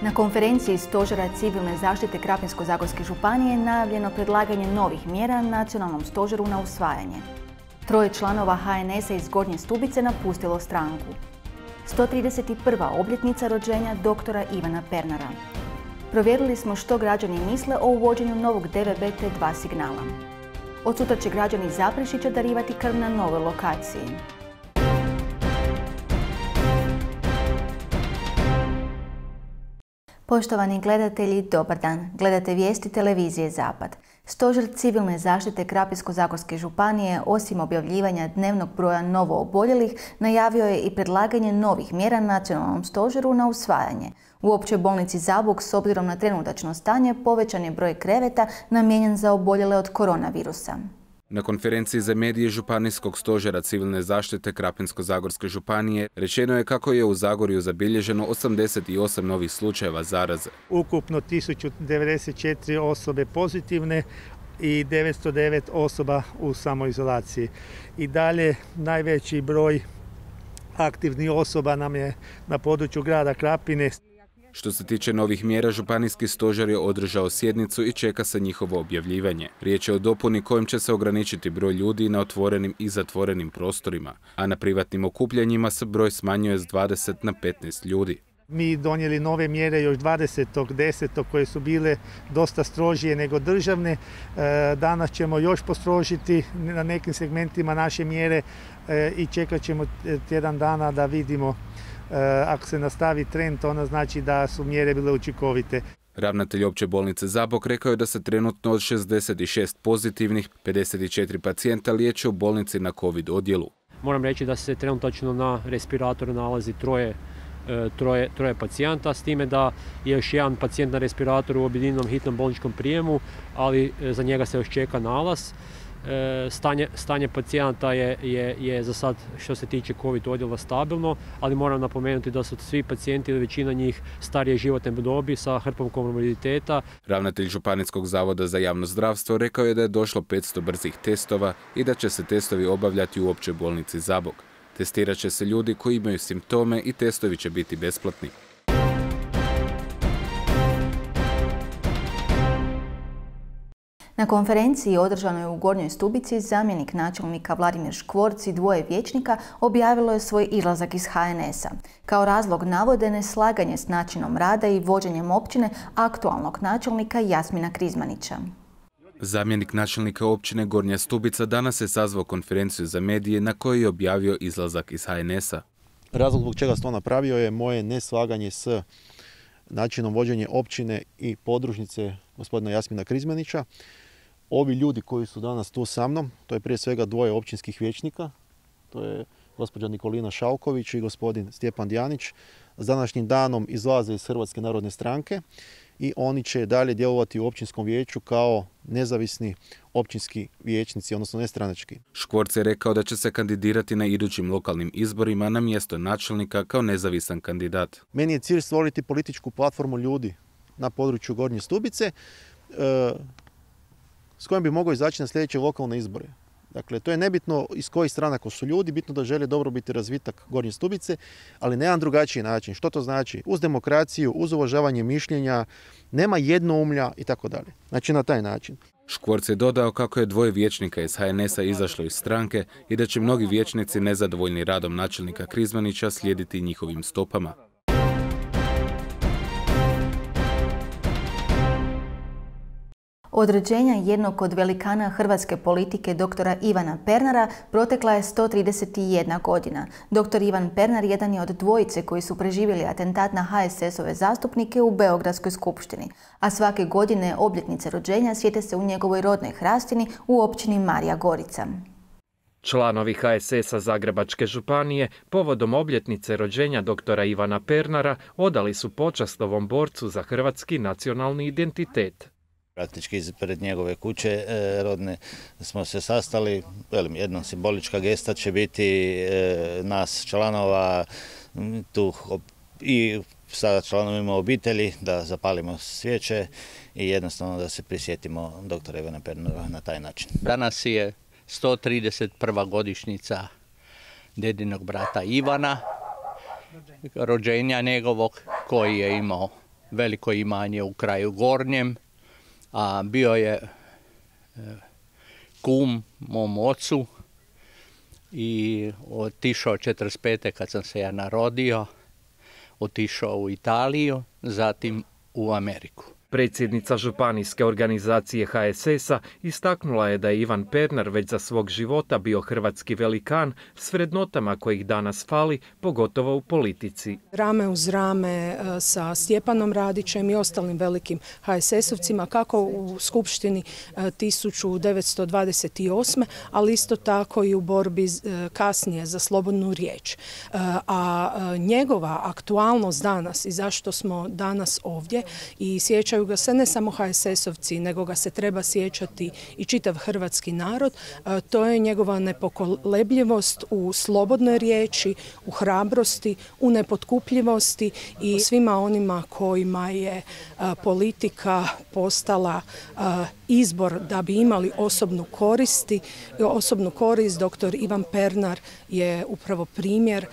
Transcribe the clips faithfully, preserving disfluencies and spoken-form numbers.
Na konferenciji Stožera civilne zaštite Krapinsko-zagorske županije je najavljeno predlaganje novih mjera nacionalnom stožeru na usvajanje. Troje članova ha en es a iz Gornje Stubice napustilo stranku. sto trideset prva obljetnica rođenja doktora Ivana Pernara. Provjerili smo što građani misle o uvođenju novog de ve be te dva signala. Od sutra će građani iz Zaprešića darivati krv na novoj lokaciji. Poštovani gledatelji, dobar dan. Gledate vijesti televizije Zapad. Stožer civilne zaštite Krapinsko-zagorske županije, osim objavljivanja dnevnog broja novooboljelih, najavio je i predlaganje novih mjera nacionalnom stožeru na usvajanje. U Općoj bolnici Zabok, s obzirom na trenutačno stanje, povećan je broj kreveta namijenjen za oboljele od koronavirusa. Na konferenciji za medije Županijskog stožera civilne zaštite Krapinsko-zagorske županije rečeno je kako je u Zagorju zabilježeno osamdeset osam novih slučajeva zaraze. Ukupno tisuću devedeset četiri osobe pozitivne i devetsto devet osoba u samoizolaciji. I dalje najveći broj aktivnih osoba nam je na području grada Krapine. Što se tiče novih mjera, županijski stožer je održao sjednicu i čeka se njihovo objavljivanje. Riječ je o dopuni kojim će se ograničiti broj ljudi na otvorenim i zatvorenim prostorima, a na privatnim okupljanjima se broj smanjuje s dvadeset na petnaest ljudi. Mi donijeli nove mjere još dvadesetog desetog koje su bile dosta strožije nego državne. Danas ćemo još postrožiti na nekim segmentima naše mjere i čekat ćemo tjedan dana da vidimo. Ako se nastavi trend, ono znači da su mjere bile učinkovite. Ravnatelj Opće bolnice Zabok rekao je da se trenutno od šezdeset šest pozitivnih pedeset četiri pacijenta liječe u bolnici na COVID odjelu. Moram reći da se trenutačno na respiratoru nalazi troje, troje, troje pacijenta, s time da je još jedan pacijent na respiratoru u objedinjenom hitnom bolničkom prijemu, ali za njega se još čeka nalaz. Stanje, stanje pacijenata je, je, je za sad što se tiče COVID odjela stabilno, ali moram napomenuti da su svi pacijenti ili većina njih starije životne dobi sa hrpom komorbiditeta. Ravnatelj Županijskog zavoda za javno zdravstvo rekao je da je došlo petsto brzih testova i da će se testovi obavljati u Općoj bolnici Zabok. Testirat će se ljudi koji imaju simptome i testovi će biti besplatni. Na konferenciji održanoj u Gornjoj Stubici zamjenik načelnika Vladimir Škvorc i dvoje vijećnika objavilo je svoj izlazak iz ha en es a. Kao razlog navode neslaganje s načinom rada i vođenjem općine aktualnog načelnika Jasmina Krizmanića. Zamjenik načelnika općine Gornja Stubica danas je sazvao konferenciju za medije na kojoj je objavio izlazak iz ha en es a. Razlog zbog čega se to napravio je moje neslaganje s načinom vođenja općine i podružnice gospodina Jasmina Krizmanića. Ovi ljudi koji su danas tu sa mnom, to je prije svega dvoje općinskih vijećnika, to je gospođa Nikolina Šalković i gospodin Stjepan Djanić, s današnjim danom izlaze iz Hrvatske narodne stranke i oni će dalje djelovati u općinskom vijeću kao nezavisni općinski vijećnici, odnosno nestranački. Škvorc je rekao da će se kandidirati na idućim lokalnim izborima na mjesto načelnika kao nezavisan kandidat. Meni je cilj stvoriti političku platformu ljudi na području Gornje Stubice s kojom bi mogao izaći na sljedeće lokalne izbore. Dakle, to je nebitno iz kojih stranaka su ljudi, bitno da žele dobrobiti razvitak Gornje Stubice, ali na jedan drugačiji način. Što to znači? Uz demokraciju, uz uvažavanje mišljenja, nema jednoumlja i tako dalje. Znači na taj način. Škvorc je dodao kako je dvoje vijećnika iz ha en es a izašlo iz stranke i da će mnogi vijećnici nezadovoljni radom načelnika Krizmanića slijediti njihovim stopama. Od rođenja jednog od velikana hrvatske politike doktora Ivana Pernara protekla je sto trideset jedna godina. Doktor Ivan Pernar jedan je od dvojice koji su preživjeli atentat na ha es es ove zastupnike u Beogradskoj skupštini, a svake godine obljetnice rođenja sjete se u njegovoj rodnoj Hrastini u općini Marija Gorica. Članovi ha es es a Zagrebačke županije povodom obljetnice rođenja doktora Ivana Pernara odali su počast ovom borcu za hrvatski nacionalni identitet. Praktički ispred njegove kuće e, rodne smo se sastali, velim, jedna simbolička gesta će biti e, nas članova tu i sa članovima obitelji da zapalimo svijeće i jednostavno da se prisjetimo doktora Ivana Pernara na taj način. Danas je sto trideset prva godišnjica dedinog brata Ivana, rođenja njegovog koji je imao veliko imanje u kraju Gornjem, a bio je kum mom ocu i otišao četrdeset pete kad sam se ja narodio, otišao u Italiju, zatim u Ameriku. Predsjednica županijske organizacije H S S-a istaknula je da je Ivan Pernar već za svog života bio hrvatski velikan s vrednotama kojih danas fali, pogotovo u politici. Rame uz rame sa Stjepanom Radićem i ostalim velikim H S S-ovcima, kako u Skupštini tisuću devetsto dvadeset osme. ali isto tako i u borbi kasnije za slobodnu riječ. A njegova aktualnost danas i zašto smo danas ovdje i sjećaju ga se ne samo H S S-ovci, nego ga se treba sjećati i čitav hrvatski narod. To je njegova nepokolebljivost u slobodnoj riječi, u hrabrosti, u nepotkupljivosti i svima onima kojima je politika postala izbor da bi imali osobnu koristi. Osobnu korist doktor Ivan Pernar je upravo primjer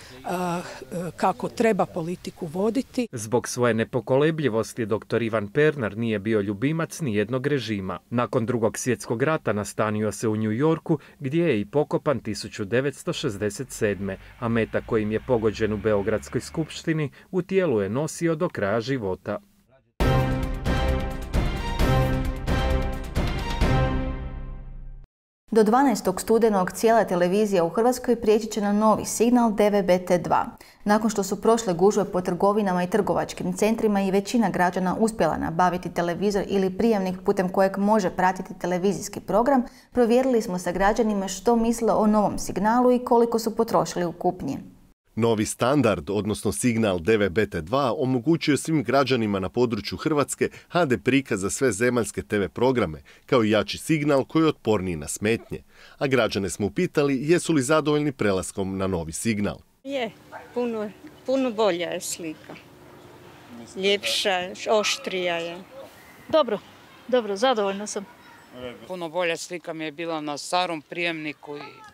kako treba politiku voditi. Zbog svoje nepokolebljivosti doktor Ivan Pernar nije bio ljubimac nijednog režima. Nakon Drugog svjetskog rata nastanio se u New Yorku, gdje je i pokopan tisuću devetsto šezdeset sedme. a meta kojim je pogođen u Beogradskoj skupštini u tijelu je nosio do kraja života. Do dvanaestog studenog cijela televizija u Hrvatskoj prijeći će na novi signal D V B T dva. Nakon što su prošle gužve po trgovinama i trgovačkim centrima i većina građana uspjela nabaviti televizor ili prijemnik putem kojeg može pratiti televizijski program, provjerili smo sa građanima što misle o novom signalu i koliko su potrošili u kupnji. Novi standard, odnosno signal D V B T dva, omogućuje svim građanima na području Hrvatske H D prikaz za sve zemaljske T V programe, kao i jači signal koji je otporniji na smetnje. A građane smo upitali jesu li zadovoljni prelaskom na novi signal. Je, puno, puno bolja je slika. Ljepša, oštrija je. Dobro, dobro, zadovoljna sam. Puno bolja slika mi je bila na starom prijemniku i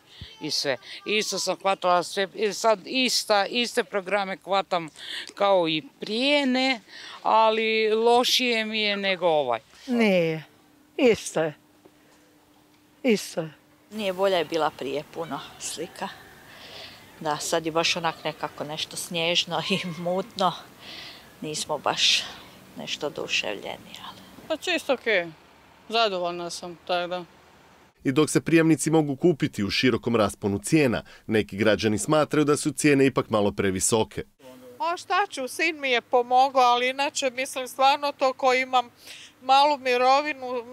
i sve. Isto sam hvatala sve, sad ista, iste programe hvatam kao i prije, ne, ali lošije mi je nego ovaj. Nije, isto je. Isto je. Nije, bolja je bila prije puno slika. Da, sad je baš onak nekako nešto snježno i mutno. Nismo baš nešto oduševljeni, ali... Pa čisto okej. Okay. Zadovoljna sam, tako da. I dok se prijemnici mogu kupiti u širokom rasponu cijena, neki građani smatraju da su cijene ipak malo previsoke. A šta ću, sin mi je pomogao, ali inače mislim stvarno to ko imam malu mirovinu,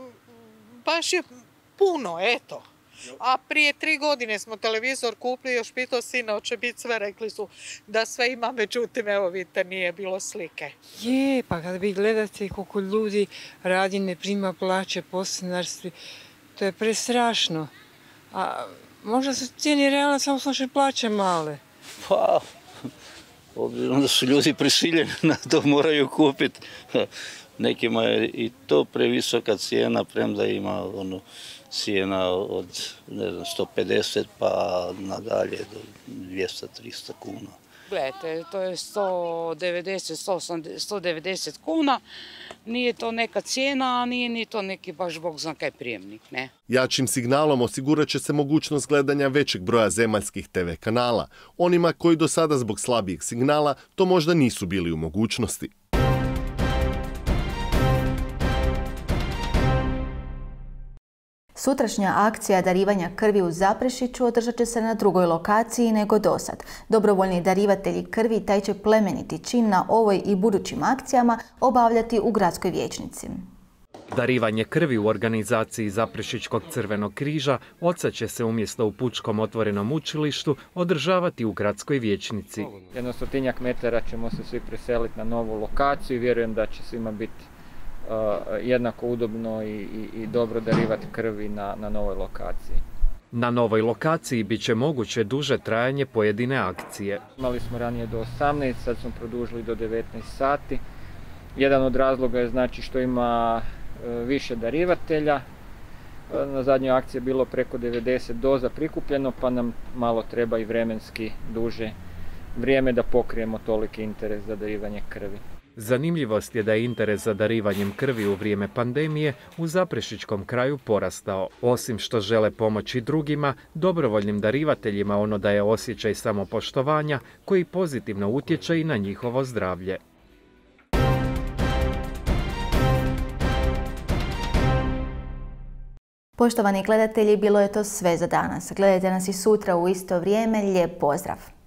baš je puno, eto. A prije tri godine smo televizor kupili, još pitao sina, hoće biti sve, rekli su da sve ima, međutim, evo vidite, nije bilo slike. Je, pa kad vi gledate koliko ljudi radi, ne prima plaće, podstanarstvi, to je prestrašno. A možda su cijeni realno, samo su naše plaće male. Pa, obzirom da su ljudi prisiljeni na to moraju kupiti. Nekima je i to previsoka cijena, premda ima ono, cijena od ne znam, sto pedeset pa nadalje do dvjesto do tristo kuna. Gledajte, to je sto devedeset do sto devedeset kuna, nije to neka cijena, a nije ni to neki baš bog zna kaj prijemnik, ne? Jačim signalom osigurat će se mogućnost gledanja većeg broja zemaljskih T V kanala, onima koji do sada zbog slabijeg signala to možda nisu bili u mogućnosti. Sutrašnja akcija darivanja krvi u Zaprešiću održat će se na drugoj lokaciji nego dosad. Dobrovoljni darivatelji krvi taj će plemeniti čin na ovoj i budućim akcijama obavljati u gradskoj vijećnici. Darivanje krvi u organizaciji Zaprešićkog crvenog križa odsad će se umjesto u Pučkom otvorenom učilištu održavati u gradskoj vijećnici. Jedno stotinjak metara ćemo se svi preseliti na novu lokaciju i vjerujem da će svima biti Uh, jednako udobno i, i, i dobro darivati krvi na, na novoj lokaciji. Na novoj lokaciji bit će moguće duže trajanje pojedine akcije. Imali smo ranije do osamnaest, sad smo produžili do devetnaest sati. Jedan od razloga je znači što ima uh, više darivatelja. Uh, na zadnjoj akciji je bilo preko devedeset doza prikupljeno, pa nam malo treba i vremenski duže vrijeme da pokrijemo toliki interes za darivanje krvi. Zanimljivost je da je interes za darivanjem krvi u vrijeme pandemije u Zaprešićkom kraju porastao. Osim što žele pomoći drugima, dobrovoljnim darivateljima ono daje osjećaj samopoštovanja koji pozitivno utječe i na njihovo zdravlje. Poštovani gledatelji, bilo je to sve za danas. Gledajte nas i sutra u isto vrijeme. Lijep pozdrav!